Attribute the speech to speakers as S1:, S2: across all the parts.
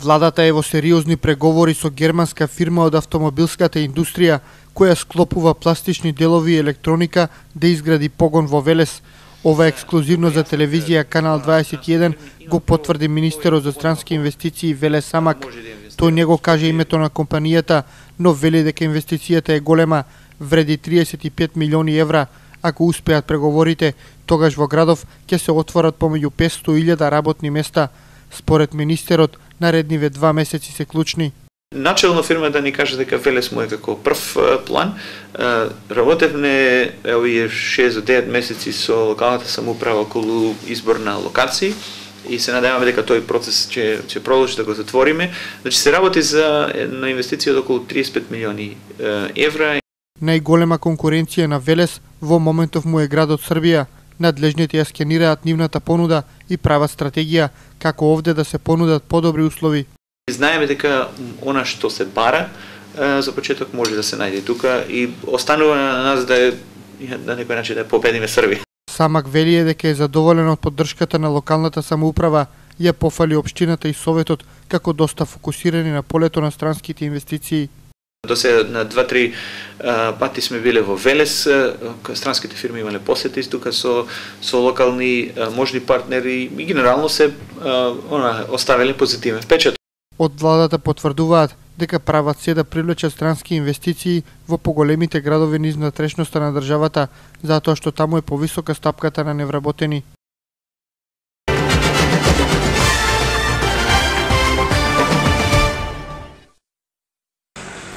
S1: Владата е во сериозни преговори со германска фирма од автомобилската индустрија, која склопува пластични делови и електроника да изгради погон во Велес. Ова ексклузивно за телевизија Канал 21 го потврди министерот за странски инвестиции Веле Самак. Тој не го каже името на компанијата, но вели дека инвестицијата е голема, вреди 35 милиони евра. Ако успеат преговорите, тогаш во градов ќе се отворат помеѓу 500.000 работни места. Според министерот, наредниве 2 месеци се клучни.
S2: Начелно фирма да ни каже дека Велес му е како прв план. Работевме овие 6 до 9 месеци со локалната самоуправа околу избор на локации и се надеваме дека тој процес ќе продолжи да го затвориме. Значи се работи на инвестиција од околу 35 милиони евра.
S1: Најголема конкуренција на Велес во моментов му е градот Србија. Надлежните ја скенираат нивната понуда и прават стратегија како овде да се понудат подобри услови.
S2: Знаеме дека она што се бара за почеток може да се најде тука и останува на нас да на некој начин да победиме Србија.
S1: Самак вели дека е задоволен од поддршката на локалната самоуправа, ја пофали општината и советот како доста фокусирани на полето на странските инвестиции.
S2: До сега на 2-3 пати сме биле во Велес, странските фирми имале посети тука со локални можни партнери и генерално се оставиле позитивен впечаток.
S1: Од владата потврдуваат дека прават се да привлечат странски инвестиции во поголемите градови низ внатрешноста на државата, затоа што таму е повисока стапката на невработени.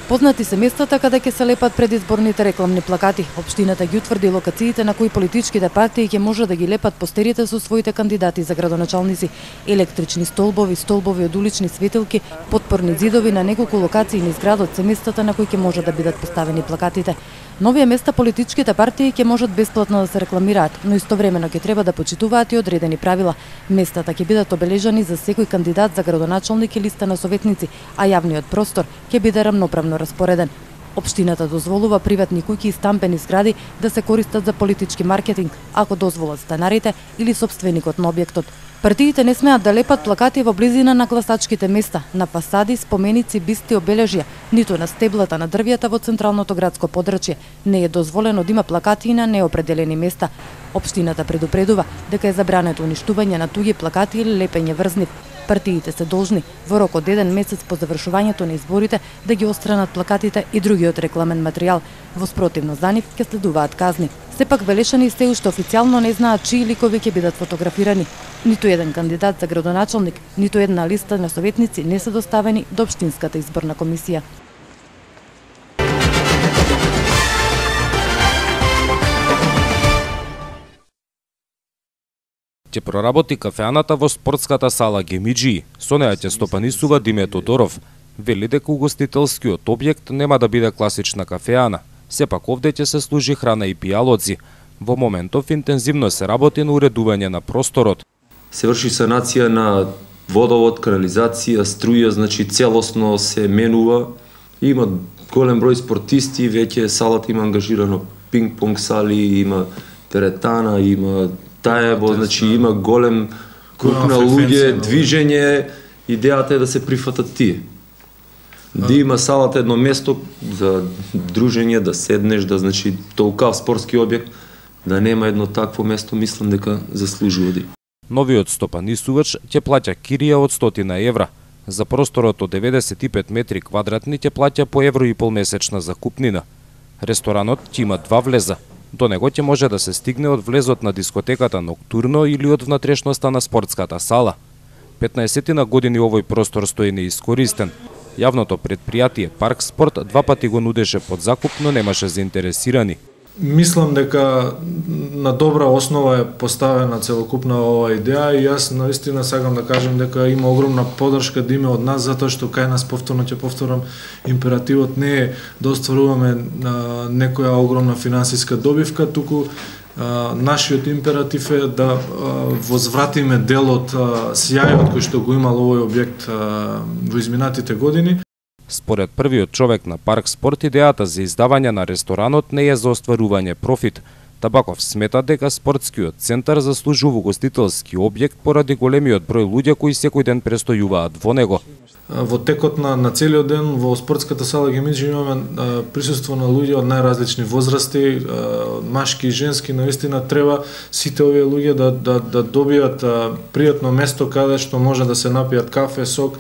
S3: Познати се местата каде ќе се лепат предизборните рекламни плакати. Општината ги утврди локациите на кои политичките партии ќе може да ги лепат постерите со своите кандидати за градоначалници. Електрични столбови од улични светилки, подпорни зидови на неколку локации низ градот се местата на кои ќе може да бидат поставени плакатите. На овие места политичките партии ќе можат бесплатно да се рекламираат, но истовремено ќе треба да почитуваат и одредени правила. Местата ќе бидат обележани за секој кандидат за градоначалник и листа на советници, а јавниот простор ќе биде рамноправно распореден. Општината дозволува приватни куќи и стамбени згради да се користат за политички маркетинг, ако дозволат станарите или сопственикот на објектот. Партиите не смеат да лепат плакати во близина на гласачките места, на фасади, споменици, бисти, обележја, ниту на стеблата на дрвјата во централното градско подрачје. Не е дозволено да има плакати и на неопределени места. Општината предупредува дека е забрането уништување на туѓи плакати или лепење врз нив. Партиите се должни во рок од 1 месец по завршувањето на изборите да ги отстранат плакатите и другиот рекламен материјал. Во спротивно за нив ќе следуваат казни. Сепак Велешани се уште официјално не знаат чии ликови ќе бидат фотографирани. Ниту еден кандидат за градоначалник, ниту една листа на советници не се доставени до општинската изборна комисија.
S4: Ќе проработи кафеаната во спортската сала Гемиџи. Со неа ќе стопанисува Диме Тодоров. Вели дека угостителскиот објект нема да биде класична кафеана. Сепак овде ќе се служи храна и пијалоци. Во моментов интензивно се работи на уредување на просторот.
S5: Се врши санација на водовод, канализација, струја, значи целосно се менува. Има голем број спортисти, веќе салата има ангажирано пинг-понг сали, има теретана, има таево, значи има голем круг на луѓе, движење, идејата е да се прифатат тие. Да има салата едно место за дружење, да седнеш, да значи толкав спортски објект, да нема едно такво место, мислам дека заслужува да.
S4: Новиот стопанисувач ќе плаќа кирија од 100 евра. За просторот од 95 метри квадратни ќе плаќа по €1,5 месечна закупнина. Ресторанот ќе има 2 влеза. До него ќе може да се стигне од влезот на дискотеката Ноктурно или од внатрешноста на спортската сала. 15 години овој простор стои неискористен. Јавното предпријатие Парк Спорт 2 пати го нудеше под закуп, но немаше заинтересирани.
S6: Мислам дека на добра основа е поставена целокупна оваа идеја и јас наистина сакам да кажам дека има огромна поддршка да има од нас, затоа што кај нас повторно ќе повторам, императивот не е да остваруваме некоја огромна финансиска добивка, туку нашиот императив е да возвратиме дел од сјајот кој што го имал овој објект во изминатите години.
S4: Според првиот човек на Парк Спорт, идејата за издавање на ресторанот не е за остварување профит. Табаков смета дека спортскиот центар заслужува угостителски објект поради големиот број луѓе кои секој ден престојуваат во него.
S6: во текот на целиот ден во спортската сала Гемиджи имаме присуство на луѓе од најразлични возрасти, машки и женски. Наистина треба сите овие луѓе да добијат пријатно место каде што може да се напијат кафе, сок,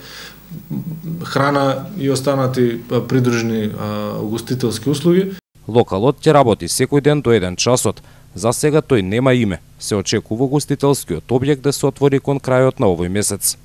S6: храна и останати придружни угостителски услуги.
S4: Локалот ќе работи секој ден до 1 часот. За сега тој нема име. Се очекува угостителскиот објект да се отвори кон крајот на овој месец.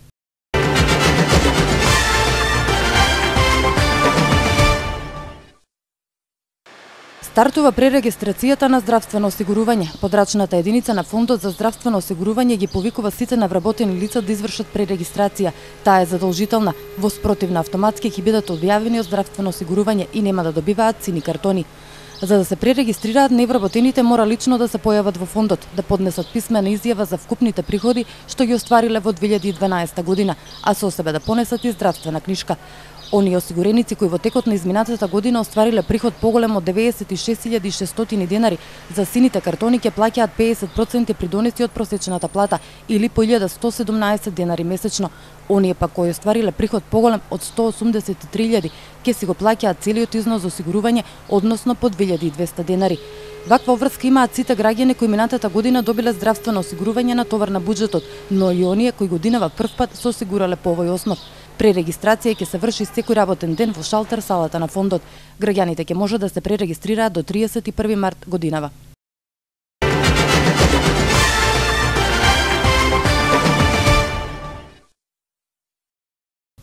S3: Стартува пререгистрацијата на здравствено осигурување. Подрачната единица на Фондот за здравствено осигурување ги повикува сите навработени лица да извршат пререгистрација. Таа е задолжителна. Во спротивно автоматски ќе бидат објавени од здравствено осигурување и нема да добиваат сини картони. За да се пререгистрираат, невработените мора лично да се појават во фондот, да поднесат писмена изјава за вкупните приходи што ги оствариле во 2012 година, а со себе да понесат и здравствена книжка. Оние осигуреници кои во текот на изминатата година оствариле приход поголем од 96.600 денари, за сините картони ќе плаќаат 50% придонеси од просечната плата или по 1.117 денари месечно. Оние пак кои оствариле приход поголем од 183.000 ќе си го плаќаат целиот износ за осигурување, односно по 2.200 денари. Ваква врска имаат сите граѓани кои минатата година добиле здравствено осигурување на товар на буџетот, но и оние кои годинава првпат се осигурале по овој основ. Пререгистрација ќе се врши секој работен ден во шалтер салата на фондот. Граѓаните ќе може да се пререгистрираат до 31 март годинава.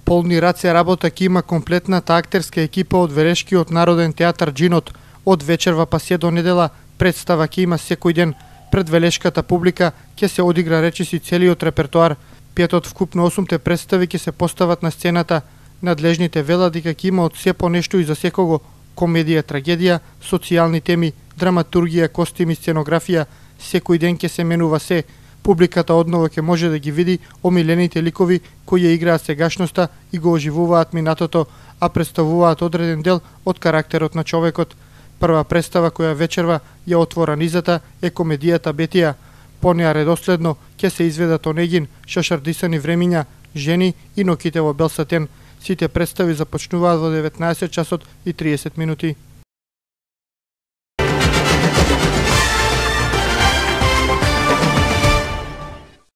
S1: Полни раце работа ќе има комплетната актерска екипа од Велешкиот народен театар Џинот. Од вечерва па се до недела представа ќе има секој ден. Пред велешката публика ќе се одигра речиси целиот репертоар. 5 од вкупно 8 представи ќе се постават на сцената. Надлежните велат дека ќе има од се по нешто и за секого: комедија, трагедија, социјални теми, драматургија, костими, сценографија. Секој ден ќе се менува се. Публиката одново ќе може да ги види омилените ликови кои ја играат сегашноста и го оживуваат минатото, а представуваат одреден дел од карактерот на човекот. Прва представа која вечерва ја отвора низата е комедијата Бетија. По неа редоследно ќе се изведат Онегин, Шашардисани времиња, Жени и Ноките во бел сатен. Сите представи започнуваат во 19 часот и 30 минути.